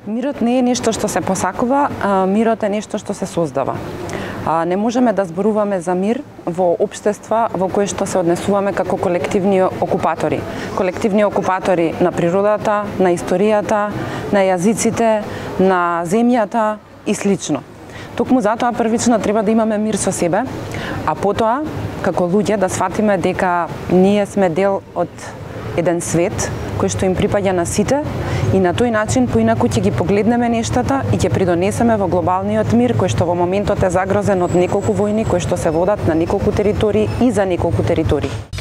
Мирот не е нешто што се посакува, мирот е нешто што се создава. Не можеме да зборуваме за мир во општества во кои што се однесуваме како колективни окупатори. Колективни окупатори на природата, на историјата, на јазиците, на земјата и слично. Токму затоа првично треба да имаме мир со себе, а потоа, како луѓе, да сфатиме дека ние сме дел од еден свет кој што им припаѓа на сите и на тој начин поинаку ќе ги погледнеме нештата и ќе придонесеме во глобалниот мир кој што во моментот е загрозен од неколку војни кои што се водат на неколку територии и за неколку територии.